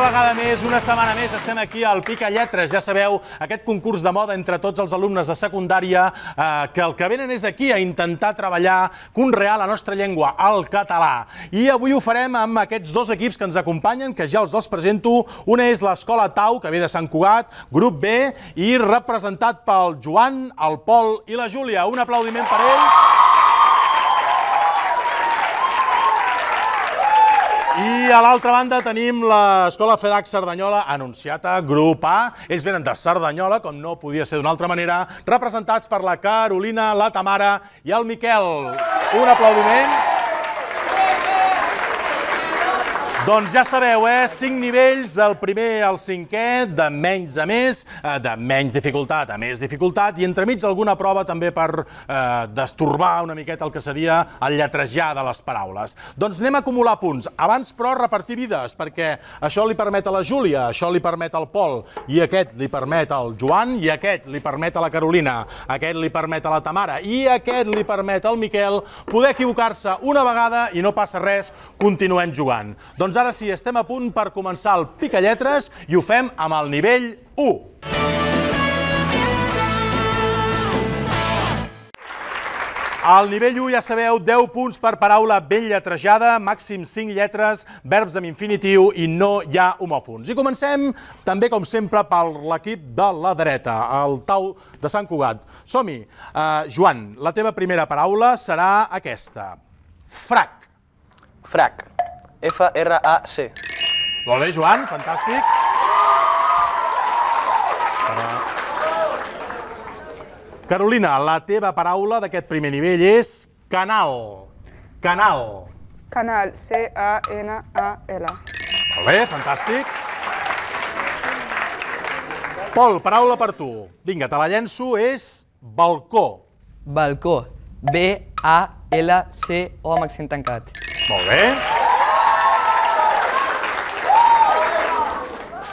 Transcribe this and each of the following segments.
vegada més, una setmana més, estem aquí al Pica Lletres. Ja sabeu, aquest concurs de moda entre tots els alumnes de secundària que el que venen és aquí a intentar treballar, conrear la nostra llengua, el català. I avui ho farem amb aquests dos equips que ens acompanyen, que ja els presento. Una és l'Escola Tau, que ve de Sant Cugat, grup B, i representat pel Joan, el Pol i la Júlia. Un aplaudiment per ells. I a l'altra banda tenim l'Escola FEDAC Cerdanyola, anunciata, grup A. Ells venen de Cerdanyola, com no podia ser d'una altra manera, representats per la Carolina, la Tamara i el Miquel. Un aplaudiment. Doncs ja sabeu, 5 nivells, del primer al cinquè, de menys a més, de menys dificultat a més dificultat, i entremig alguna prova també per destorbar una miqueta el que seria el lletrejar de les paraules. Doncs anem a acumular punts. Abans, però, repartir vides, perquè això li permet a la Júlia, això li permet al Pol, i aquest li permet al Joan, i aquest li permet a la Carolina, aquest li permet a la Tamara, i aquest li permet al Miquel poder equivocar-se una vegada i no passa res, continuem jugant. Doncs ara sí, estem a punt per començar el Pica Lletres i ho fem amb el nivell 1. Al nivell 1, ja sabeu, 10 punts per paraula ben lletrejada, màxim 5 lletres, verbs amb infinitiu i no hi ha homòfons. I comencem, també com sempre, per l'equip de la dreta, el Tau de Sant Cugat. Som-hi. Joan, la teva primera paraula serà aquesta. Frac. Frac. F-R-A-C. Molt bé, Joan, fantàstic. Carolina, la teva paraula d'aquest primer nivell és canal. Canal. Canal, C-A-N-A-L. Molt bé, fantàstic. Pol, paraula per tu. Vinga, te la llenço, és balcó. Balcó. B-A-L-C-O amb accent tancat. Molt bé.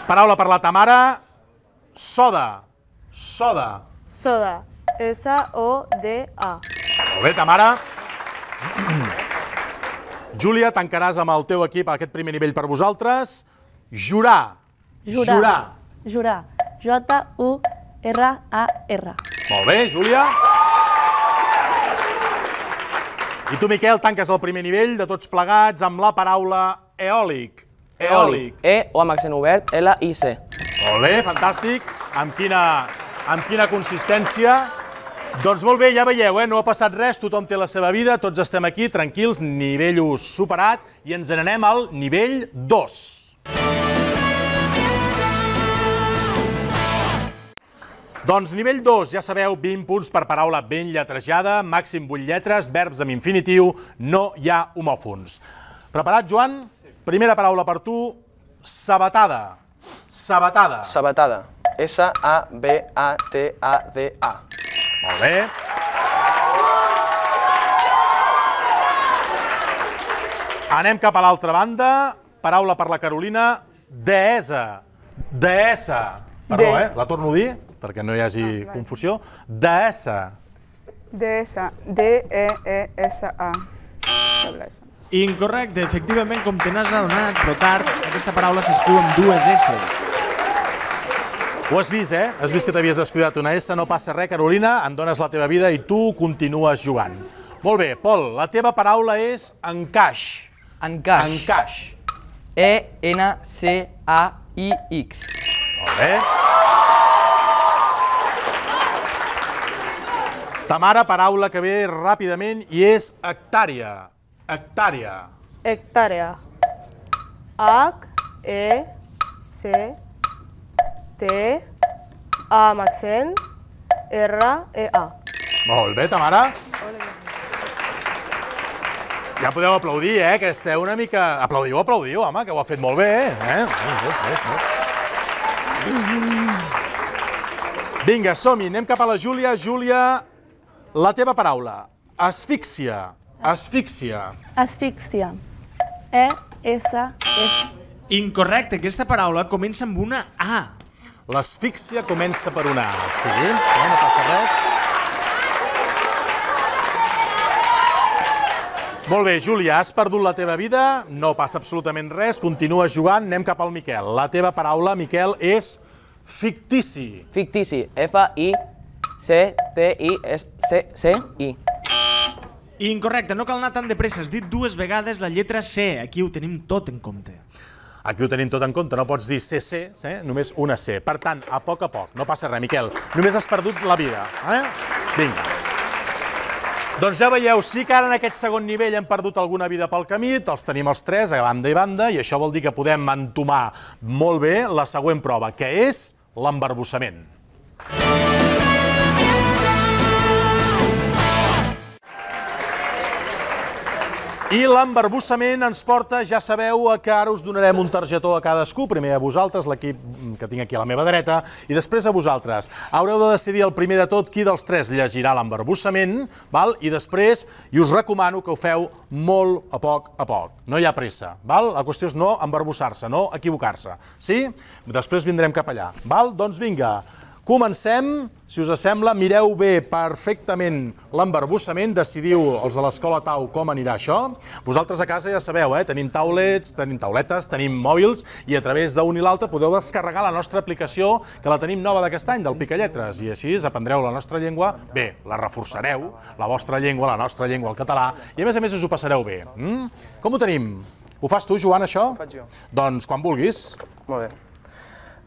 Paraula per la Tamara, soda. Soda. Soda. S-O-D-A. Molt bé, Tamara. Júlia, tancaràs amb el teu equip aquest primer nivell per vosaltres. Jurar. Jurar. Jurar. J-U-R-A-R. Molt bé, Júlia. I tu, Miquel, tanques el primer nivell de tots plegats amb la paraula eòlic. Eòlic. E o amb accent obert, L-I-C. Molt bé, fantàstic. Amb quina consistència? Doncs molt bé, ja veieu, no ha passat res, tothom té la seva vida, tots estem aquí, tranquils, nivell 1 superat, i ens n'anem al nivell 2. Doncs nivell 2, ja sabeu, 20 punts per paraula ben lletrejada, màxim 8 lletres, verbs amb infinitiu, no hi ha homòfons. Preparat, Joan? Primera paraula per tu, sabatada. Sabatada. Sabatada. S-A-B-A-T-A-D-A. Molt bé. Anem cap a l'altra banda. Paraula per la Carolina, deessa. Deessa. Perdó, la torno a dir, perquè no hi hagi confusió. Deessa. D-S, D-E-E-S-A. Incorrecte, efectivament, com te n'has adonat, però tard, aquesta paraula s'escriu amb dues S's. Ho has vist, Has vist que t'havies descuidat una S, no passa res, Carolina, em dones la teva vida i tu continues jugant. Molt bé, Pol, la teva paraula és encaix. Encaix. Encaix. E-N-C-A-I-X. Molt bé. Tamara, paraula que ve ràpidament i és hectàrea. Hectàrea. Hectàrea. H-E-C-T-A amb accent R-E-A. Molt bé, Tamara. Ja podeu aplaudir, que esteu una mica... Aplaudiu, home, que ho ha fet molt bé, Més. Vinga, som-hi, anem cap a la Júlia. Júlia, la teva paraula. Asfíxia. Asfíxia. Asfíxia. E-S-S. Incorrecte, aquesta paraula comença amb una A. L'asfíxia comença per una A, sí? No passa res. Molt bé, Júlia, has perdut la teva vida, no passa absolutament res, continua jugant, anem cap al Miquel. La teva paraula, Miquel, és fictici. Fictici. F-I-C-T-I-C-I. Incorrecte, no cal anar tan de pressa. Has dit dues vegades la lletra C. Aquí ho tenim tot en compte. Aquí ho tenim tot en compte, no pots dir CC, només una C. Per tant, a poc, no passa res, Miquel. Només has perdut la vida. Vinga. Doncs ja veieu, sí que ara en aquest segon nivell hem perdut alguna vida pel camí, els tenim els tres a banda i banda, i això vol dir que podem entomar molt bé la següent prova, que és l'embarbussament. I l'embarbussament ens porta, ja sabeu, que ara us donarem un targetó a cadascú, primer a vosaltres, l'equip que tinc aquí a la meva dreta, i després a vosaltres. Haureu de decidir el primer de tot qui dels tres llegirà l'embarbussament, i després, i us recomano que ho feu molt a poc. No hi ha pressa, la qüestió és no embarbussar-se, no equivocar-se. Sí? Després vindrem cap allà. Doncs vinga. Comencem, si us sembla, mireu bé perfectament l'embarbussament, decidiu els de l'Escola Tau com anirà això. Vosaltres a casa ja sabeu, tenim taulets, tenim tauletes, tenim mòbils i a través d'un i l'altre podeu descarregar la nostra aplicació, que la tenim nova d'aquest any, del Picalletres, i així aprendreu la nostra llengua, bé, la reforçareu, la vostra llengua, la nostra llengua, el català, i a més us ho passareu bé. Com ho tenim? Ho fas tu, Joan, això? Ho faig jo. Doncs quan vulguis. Molt bé.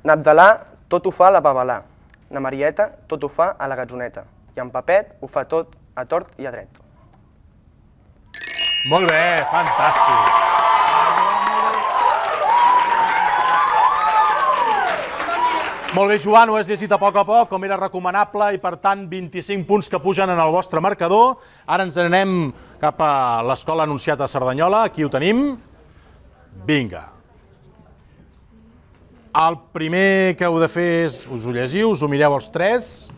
N'Abdalà tot ho fa a la Babalà. Na Marieta tot ho fa a la Gatzoneta. I en Papet ho fa tot a tort i a dret. Molt bé, fantàstic. Molt bé, Joan, ho has llegit a poc, com era recomanable, i per tant 25 punts que pugen en el vostre marcador. Ara ens anem cap a l'Escola Anunciata a Cerdanyola, aquí ho tenim. Vinga. El primer que heu de fer és, us ho llegiu, us ho mireu els tres.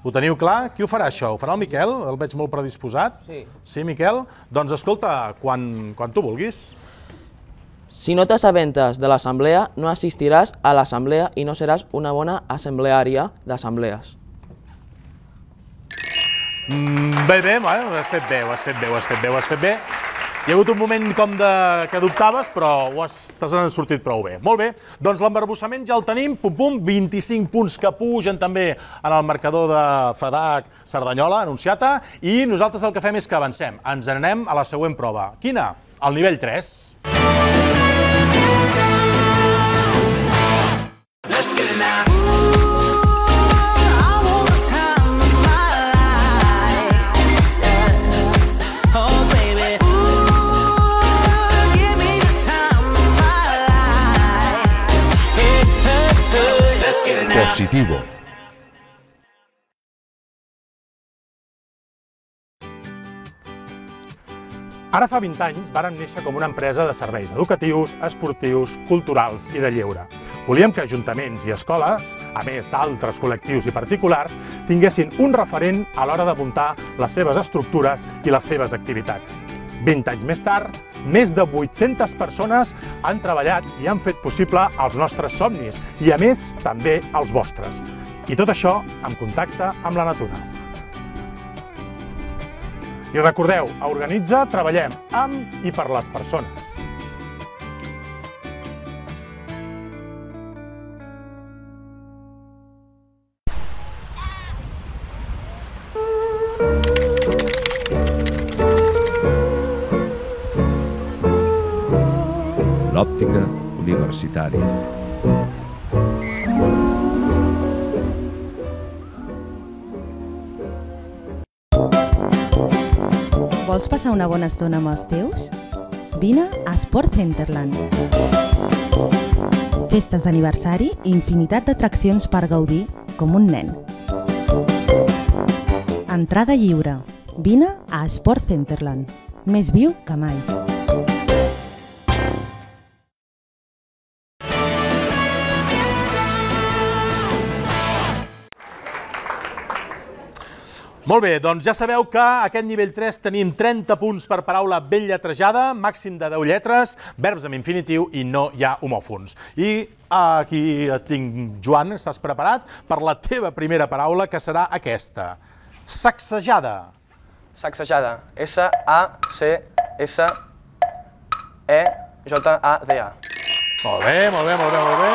Ho teniu clar? Qui ho farà, això? Ho farà el Miquel? El veig molt predisposat. Sí. Sí, Miquel? Doncs escolta, quan tu vulguis. Si no t'assabentes de l'assemblea, no assistiràs a l'assemblea i no seràs una bona assembleària d'assemblees. Bé, ho has fet bé, ho has fet bé. Hi ha hagut un moment com que dubtaves, però t'has sortit prou bé. Molt bé, doncs l'embarbussament ja el tenim, 25 punts que pugen també en el marcador de FEDAC Cerdanyola, Anunciata, i nosaltres el que fem és que avancem. Ens anem a la següent prova. Quina? El nivell 3. Positivo. Ara fa 20 anys vàrem néixer com una empresa de serveis educatius, esportius, culturals i de lleure. Volíem que ajuntaments i escoles, a més d'altres col·lectius i particulars, tinguessin un referent a l'hora de muntar les seves estructures i les seves activitats. 20 anys més tard, més de 800 persones han treballat i han fet possible els nostres somnis i, a més, també els vostres. I tot això en contacte amb la natura. I recordeu, a Organitza treballem amb i per les persones. L'òptica universitària. Vols passar una bona estona amb els teus? Vine a Sport Centerland. Festes d'aniversari i infinitat d'atraccions per gaudir com un nen. Entrada lliure. Vine a Sport Centerland. Més viu que mai. Molt bé, doncs ja sabeu que a aquest nivell 3 tenim 30 punts per paraula ben lletrejada, màxim de 10 lletres, verbs amb infinitiu i no hi ha homòfons. I aquí et tinc, Joan, estàs preparat per la teva primera paraula, que serà aquesta. Sacsejada. Sacsejada. S-A-C-S-E-J-A-D-A. Molt bé, molt bé, molt bé, molt bé.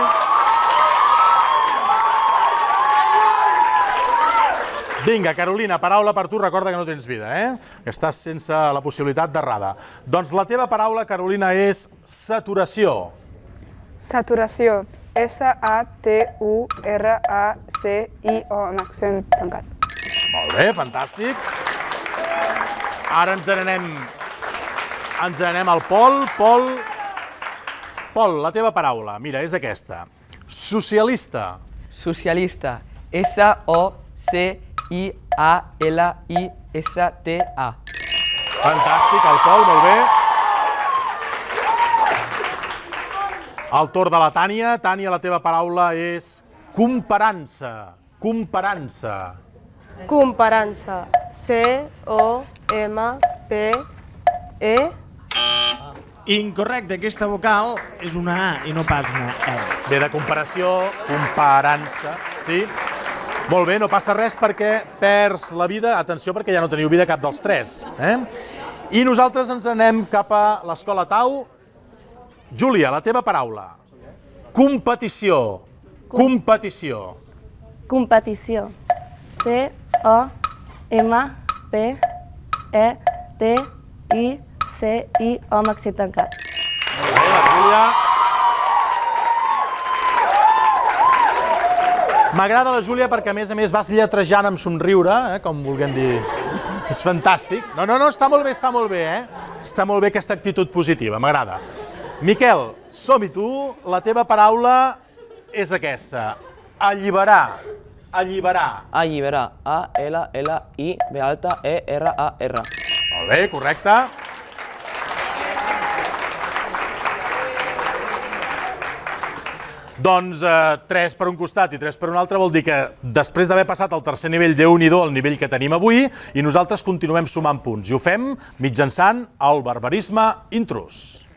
Vinga, Carolina, paraula per tu. Recorda que no tens vida, que estàs sense la possibilitat d'errada. Doncs la teva paraula, Carolina, és saturació. Saturació. S-A-T-U-R-A-C-I-O amb accent tancat. Molt bé, fantàstic. Ara ens n'anem al Pol. Pol, la teva paraula, mira, és aquesta. Socialista. Socialista. S-O-C-I-A-L-I-S-T-A. Fantàstic, el Pol, molt bé. El torn de la Tània. Tània, la teva paraula és comparança. Comparança. Comparança. C-O-M-P-E. Incorrecte, aquesta vocal és una A i no pas una E. Ve de comparació, comparança, sí? Molt bé, no passa res perquè perds la vida. Atenció, perquè ja no teniu vida cap dels tres. I nosaltres ens anem cap a l'Escola Tau. Júlia, la teva paraula. Competició. Competició. Competició. C-O-M-P-E-T-I-C-I-O amb accent tancat. Molt bé, la Júlia. M'agrada la Júlia perquè, a més vas lletrejant amb somriure, com vulguem dir. És fantàstic. No, està molt bé, Està molt bé aquesta actitud positiva, m'agrada. Miquel, som-hi tu. La teva paraula és aquesta. Alliberar. Alliberar. Alliberar. A-L-L-I-B-E-R-A-R. Molt bé, correcte. Doncs 3 per un costat i 3 per un altre vol dir que després d'haver passat el tercer nivell, Déu-n'hi-do el nivell que tenim avui, i nosaltres continuem sumant punts. I ho fem mitjançant el barbarisme intrus.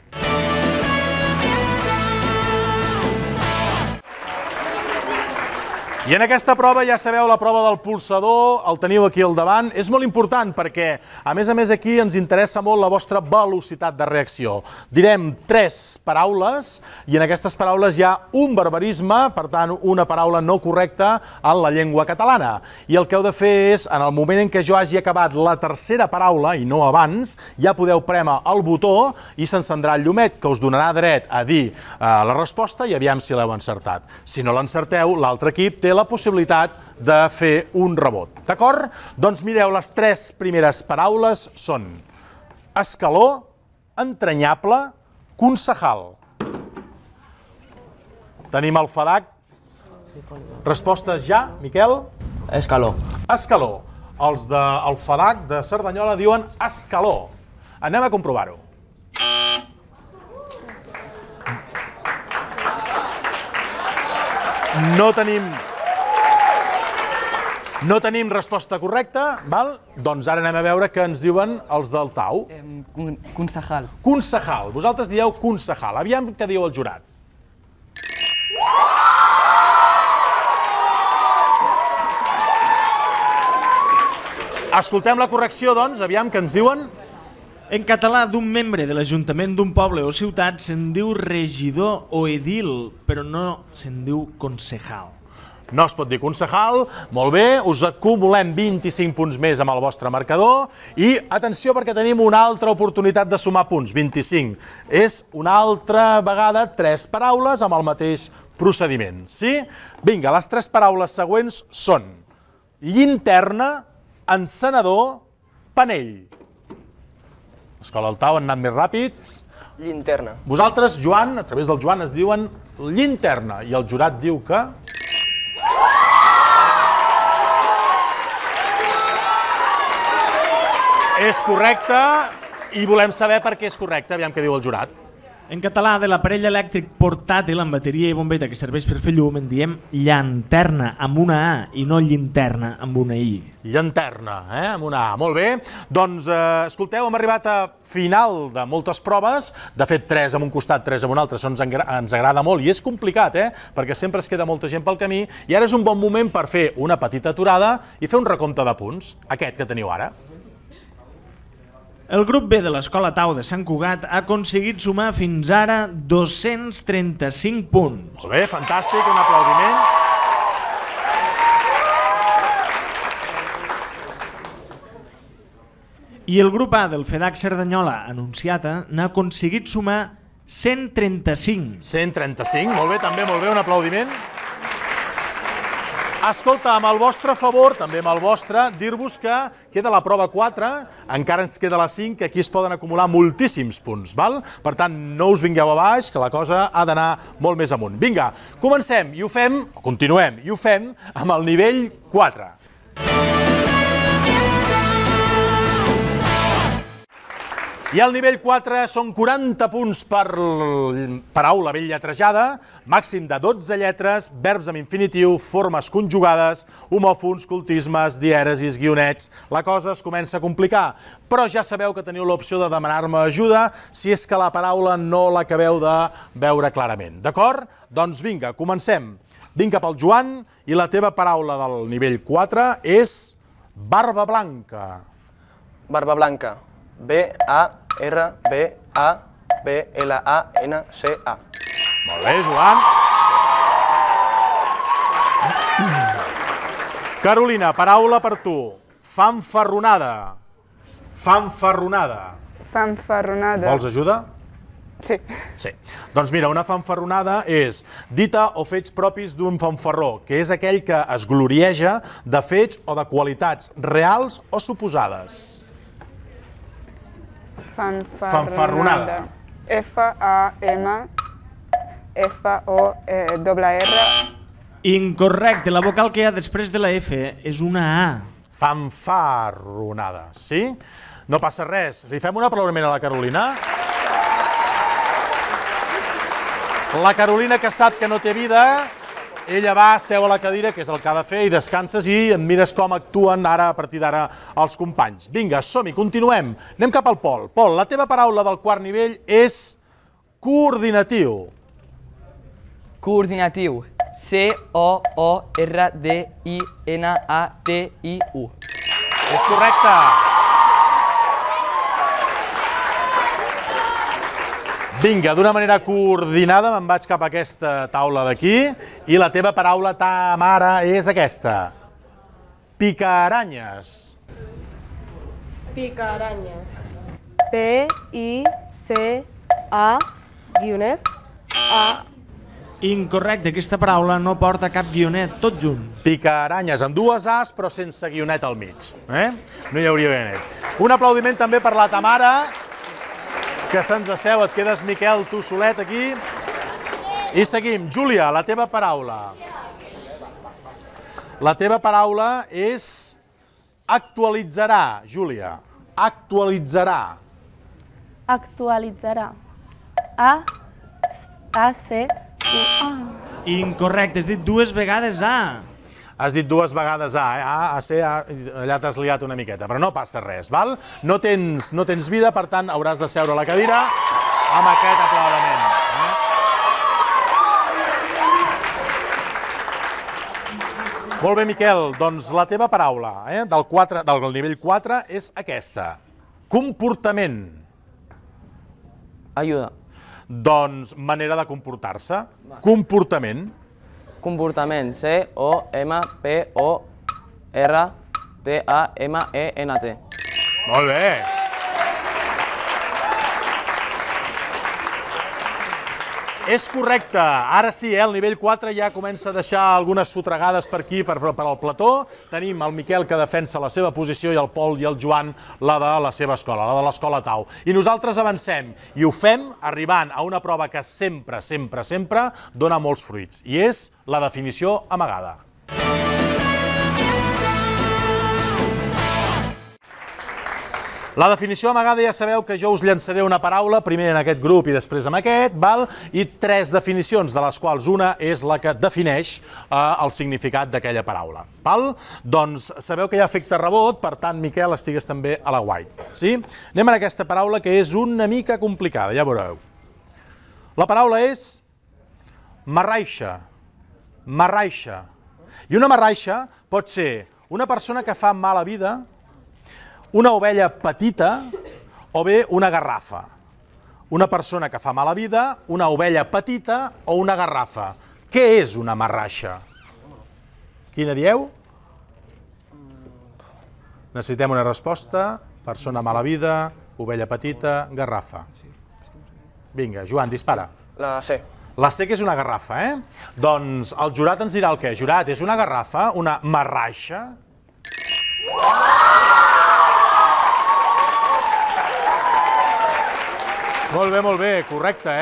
I en aquesta prova, ja sabeu, la prova del polsador, el teniu aquí al davant. És molt important perquè, a més, aquí ens interessa molt la vostra velocitat de reacció. Direm 3 paraules i en aquestes paraules hi ha un barbarisme, per tant, una paraula no correcta en la llengua catalana. I el que heu de fer és, en el moment en què jo hagi acabat la tercera paraula, i no abans, ja podeu prémer el botó i s'encendrà el llumet que us donarà dret a dir la resposta i aviam si l'heu encertat. Si no l'encerteu, l'altre equip té la possibilitat de fer un rebot. D'acord? Doncs mireu, les 3 primeres paraules són escaló, entranyable, concejal. Tenim el FADAC. Respostes ja, Miquel? Escaló. Escaló. Els del FADAC de Cerdanyola diuen escaló. Anem a comprovar-ho. No tenim resposta correcta, val? Doncs ara anem a veure què ens diuen els del Tau. Concejal. Concejal. Vosaltres dieu concejal. Aviam què diu el jurat. Escoltem la correcció, doncs, aviam què ens diuen. En català, d'un membre de l'Ajuntament d'un poble o ciutat se'n diu regidor o edil, però no se'n diu concejal. No es pot dir concejal. Molt bé, us acumulem 25 punts més amb el vostre marcador i atenció perquè tenim una altra oportunitat de sumar punts, 25. És una altra vegada 3 paraules amb el mateix procediment, sí? Vinga, les 3 paraules següents són llinterna, encenedor, panell. Escola del Tau han anat més ràpids. Llinterna. Vosaltres, Joan, a través del Joan es diuen llinterna i el jurat diu que... És correcte i volem saber per què és correcte, aviam què diu el jurat. En català, de l'aparell elèctric portàtil amb bateria i bombeta que serveix per fer llum, en diem llanterna amb una A i no llinterna amb una I. Llanterna, amb una A. Molt bé. Doncs, escolteu, hem arribat a final de moltes proves. De fet, 3 en un costat, 3 en un altre. Això ens agrada molt i és complicat, perquè sempre es queda molta gent pel camí. I ara és un bon moment per fer una petita aturada i fer un recompte de punts, aquest que teniu ara. El grup B de l'Escola Tau de Sant Cugat ha aconseguit sumar fins ara 235 punts. Molt bé, fantàstic, un aplaudiment. I el grup A del FEDAC Cerdanyola Anunciata n'ha aconseguit sumar 135. 135, molt bé, també molt bé, un aplaudiment. Escolta, amb el vostre favor, també amb el vostre, dir-vos que queda la prova 4, encara ens queda la 5, que aquí es poden acumular moltíssims punts, val? Per tant, no us vingueu a baix, que la cosa ha d'anar molt més amunt. Vinga, comencem i ho fem, o continuem, i ho fem amb el nivell 4. I al nivell 4 són 40 punts per paraula ben lletrejada, màxim de 12 lletres, verbs amb infinitiu, formes conjugades, homòfons, cultismes, dièresis, guionets. La cosa es comença a complicar, però ja sabeu que teniu l'opció de demanar-me ajuda si és que la paraula no l'acabeu de veure clarament. D'acord? Doncs vinga, comencem. Vinc cap al Joan i la teva paraula del nivell 4 és barba blanca. Barba blanca. B-A-R-B-A-B-L-A-N-C-A. Molt bé, Joan. Carolina, paraula per tu. Fanfarronada. Fanfarronada. Fanfarronada. Vols ajuda? Sí. Sí. Doncs mira, una fanfarronada és dita o fets propis d'un fanfarró, que és aquell que es glorieja de fets o de qualitats reals o suposades. Fanfarronada. F-A-M-F-O-R-R. Incorrecte, la vocal que hi ha després de la F és una A. Fanfarronada, sí? No passa res. Li fem un aplaudiment a la Carolina? La Carolina, que sap que no té vida, ella va, seu a la cadira, que és el que ha de fer, i descanses i et mires com actuen ara, a partir d'ara, els companys. Vinga, som-hi, continuem. Anem cap al Pol. Pol, la teva paraula del quart nivell és coordinatiu. Coordinatiu. C-O-O-R-D-I-N-A-T-I-U. És correcte. Vinga, d'una manera coordinada me'n vaig cap a aquesta taula d'aquí i la teva paraula, Tamara, és aquesta. Picaranyes. Picaranyes. P-I-C-A-A. Incorrecte, aquesta paraula no porta cap guionet, tot junt. Picaranyes, amb dues As, però sense guionet al mig. No hi hauria guionet. Un aplaudiment també per la Tamara, que se'ns asseu, et quedes, Miquel, tu solet aquí. I seguim. Júlia, la teva paraula. La teva paraula és actualitzarà, Júlia. Actualitzarà. Actualitzarà. A-C-U-A. Incorrecte, has dit dues vegades A. Has dit dues vegades A, A, C, A, allà t'has liat una miqueta, però no passa res, val? No tens vida, per tant, hauràs de seure a la cadira amb aquest aplaudiment. Molt bé, Miquel, doncs la teva paraula del nivell 4 és aquesta. Comportament. Ajuda. Doncs manera de comportar-se. Comportament. Comportament. C-O-M-P-O-R-T-A-M-E-N-T. Molt bé. És correcte. Ara sí, el nivell 4 ja comença a deixar algunes sotregades per aquí, per al plató. Tenim el Miquel, que defensa la seva posició, i el Pol i el Joan, la de la seva escola, la de l'Escola Tau. I nosaltres avancem, i ho fem arribant a una prova que sempre, sempre, sempre dona molts fruits, i és la definició amagada. La definició amagada, ja sabeu que jo us llançaré una paraula, primer en aquest grup i després en aquest, i 3 definicions, de les quals una és la que defineix el significat d'aquella paraula. Doncs sabeu que hi ha efecte rebot, per tant, Miquel, estigues també a la guai. Anem a aquesta paraula, que és una mica complicada, ja veureu. La paraula és marraixa. Marraixa. I una marraixa pot ser una persona que fa mala vida, una ovella petita o bé una garrafa. Una persona que fa mala vida, una ovella petita o una garrafa. Què és una marraixa? Quina dieu? Necessitem una resposta. Persona mala vida, ovella petita, garrafa. Vinga, Joan, dispara. La C. La C que és una garrafa, Doncs el jurat ens dirà el què. Jurat, és una garrafa, una marraixa? Molt bé, correcte,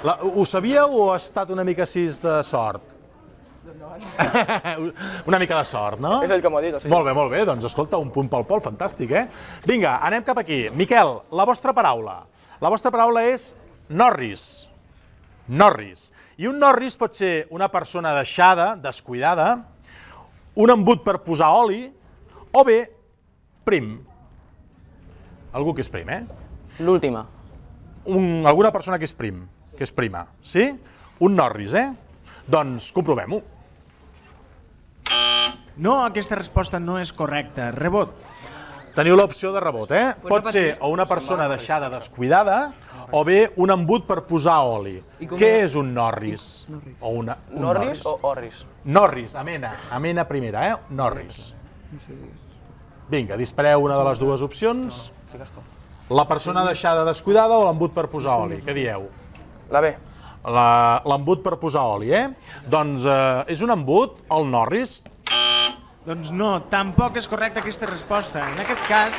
Ho sabíeu o ha estat una mica així de sort? Una mica de sort, no? És ell que m'ho ha dit, el senyor. Molt bé, doncs escolta, un punt pel Pol, fantàstic, Vinga, anem cap aquí. Miquel, la vostra paraula. La vostra paraula és Norris. Norris. I un Norris pot ser una persona deixada, descuidada, un embut per posar oli, o bé prim. Algú que és prim, L'última. Alguna persona que és prim, que és prima, sí? Un Norris, Doncs comprovem-ho. No, aquesta resposta no és correcta. Rebot. Teniu l'opció de rebot, Pot ser o una persona deixada descuidada o bé un embut per posar oli. Què és un Norris? Norris o Orris? Norris, amena primera, Norris. Vinga, dispareu una de les dues opcions. La persona deixada descuidada o l'embut per posar oli? Què dieu? La B. L'embut per posar oli, Doncs és un embut, el Norris? Doncs no, tampoc és correcta aquesta resposta. En aquest cas,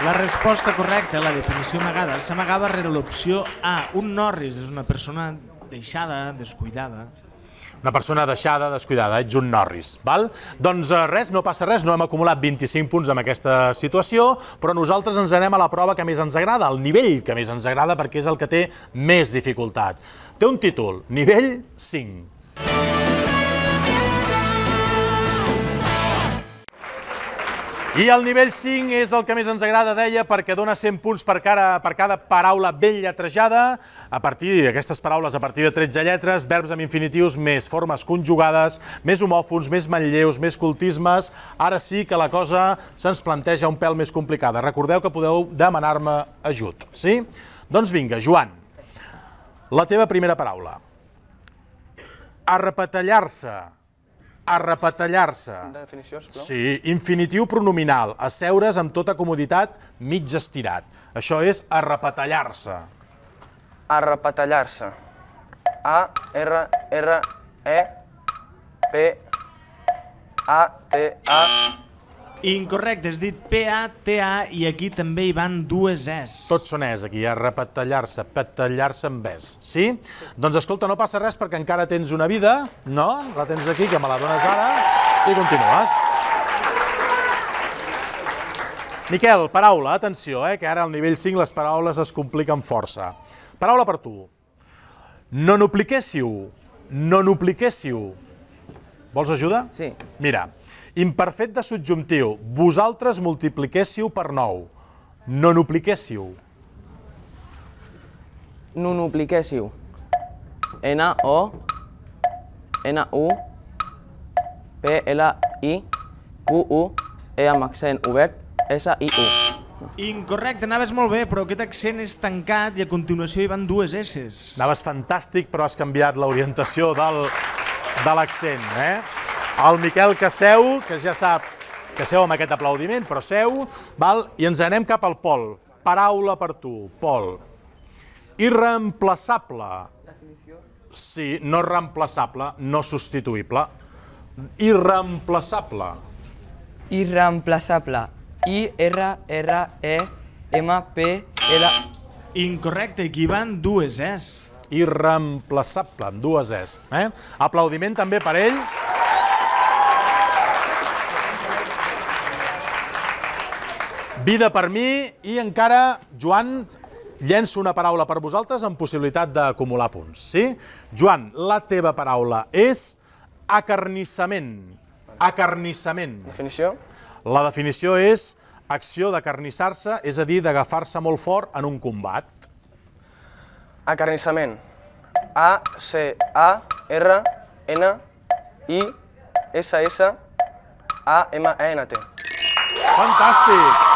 la resposta correcta, la definició amagada, s'amagava rere l'opció A. Un Norris és una persona deixada, descuidada. Una persona deixada, descuidada, ets un Norris, val? Doncs res, no passa res, no hem acumulat 25 punts amb aquesta situació, però nosaltres ens anem a la prova que més ens agrada, el nivell que més ens agrada, perquè és el que té més dificultat. Té un títol, nivell 5. I el nivell 5 és el que més ens agrada, deia, perquè dona 100 punts per cada paraula ben lletrejada, a partir d'aquestes paraules, a partir de 13 lletres, verbs amb infinitius, més formes conjugades, més homòfons, més manlleus, més cultismes. Ara sí que la cosa se'ns planteja un pèl més complicada. Recordeu que podeu demanar-me ajut, sí? Doncs vinga, Joan, la teva primera paraula. Arrepetallar-se. Arrepetallar-se. Definició, sisplau. Sí, infinitiu pronominal, asseure's amb tota comoditat, mig estirat. Això és arrepetallar-se. Arrepetallar-se. A-R-R-E-P-A-T-A. Incorrecte, has dit P-A-T-A i aquí també hi van dues Es. Tots són es aquí, arrepetallar-se, petallar-se amb es. Sí? Doncs escolta, no passa res perquè encara tens una vida, no? La tens aquí, que me la dones ara, i continues. Miquel, paraula, atenció, que ara al nivell 5 les paraules es compliquen força. Paraula per tu. No n'opliquéssiu. No n'opliquéssiu. Vols ajuda? Sí. Mira, imperfecte subjuntiu. Vosaltres multipliquéssiu per 9. No n'opliquéssiu. Nonupliquéssiu. N-O-N-U-P-L-I-Q-U-E amb accent obert, S-I-U. Incorrecte, anaves molt bé, però aquest accent és tancat i a continuació hi van dues S's. Anaves fantàstic, però has canviat l'orientació de l'accent, El Miquel que seu, que ja sap que seu amb aquest aplaudiment, però seu, val? I ens anem cap al Pol. Paraula per tu, Pol. Irreemplaçable. Definició? Sí, no reemplaçable, no substituïble. Irreemplaçable. Irreemplaçable. I-R-R-E-M-P-L... Incorrecte, aquí van dues Es. Irreemplaçable, amb dues Es. Aplaudiment també per ell. Vida per mi i encara, Joan, llenço una paraula per vosaltres amb possibilitat d'acumular punts, sí? Joan, la teva paraula és acarnissament. Acarnissament. Definició? La definició és acció d'acarnissar-se, és a dir, d'agafar-se molt fort en un combat. Acarnissament. A-C-A-R-N-I-S-S-A-M-E-N-T. Fantàstic!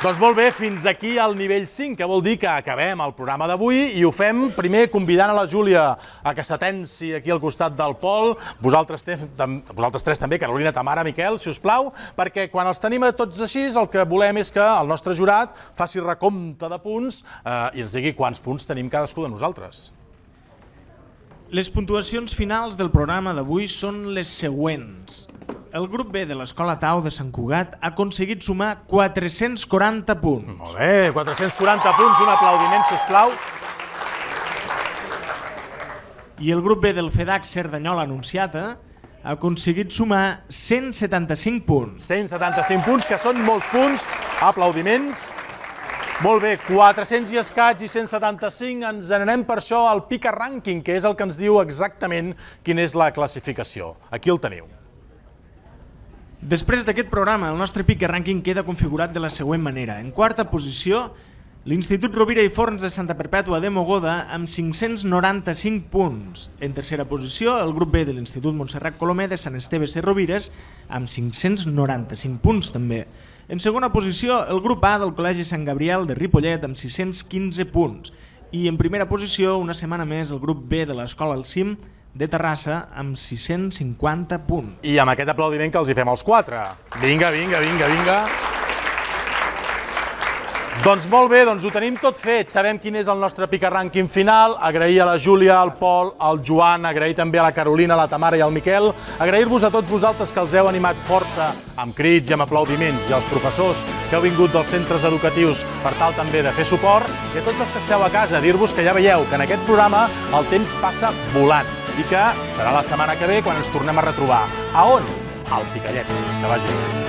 Doncs molt bé, fins aquí el nivell 5, que vol dir que acabem el programa d'avui i ho fem primer convidant a la Júlia a que s'atenci aquí al costat del Pol, vosaltres tres també, Carolina, Tamara, Miquel, si us plau, perquè quan els tenim a tots així el que volem és que el nostre jurat faci recompte de punts i ens digui quants punts tenim cadascú de nosaltres. Les puntuacions finals del programa d'avui són les següents. El grup B de l'Escola Tau de Sant Cugat ha aconseguit sumar 440 punts. Molt bé, 440 punts, un aplaudiment, sisplau. I el grup B del FEDAC Cerdanyola Anunciata ha aconseguit sumar 175 punts. 175 punts, que són molts punts. Aplaudiments. Molt bé, 400 i escaig i 175, ens n'anem per això al Pica Rànquing, que és el que ens diu exactament quina és la classificació. Aquí el teniu. Després d'aquest programa, el nostre Pica Rànquing queda configurat de la següent manera. En quarta posició, l'Institut Rovira i Forns de Santa Perpètua de Mogoda amb 595 punts. En tercera posició, el grup B de l'Institut Montserrat Colomer de Sant Esteve Sesrovires amb 595 punts també. En segona posició, el grup A del Col·legi Sant Gabriel de Ripollet amb 615 punts. I en primera posició, una setmana més, el grup B de l'Escola El Cim de Terrassa amb 650 punts. I amb aquest aplaudiment que els hi fem als quatre. Vinga, vinga, vinga, vinga. Doncs molt bé, doncs ho tenim tot fet. Sabem quin és el nostre Pica Rànquing final. Agrair a la Júlia, al Pol, al Joan, agrair també a la Carolina, a la Tamara i al Miquel. Agrair-vos a tots vosaltres que els heu animat força amb crits i amb aplaudiments, i als professors que heu vingut dels centres educatius per tal també de fer suport, i a tots els que esteu a casa, dir-vos que ja veieu que en aquest programa el temps passa volant i que serà la setmana que ve quan ens tornem a retrobar. A on? Al Picalletes. Que vagi bé.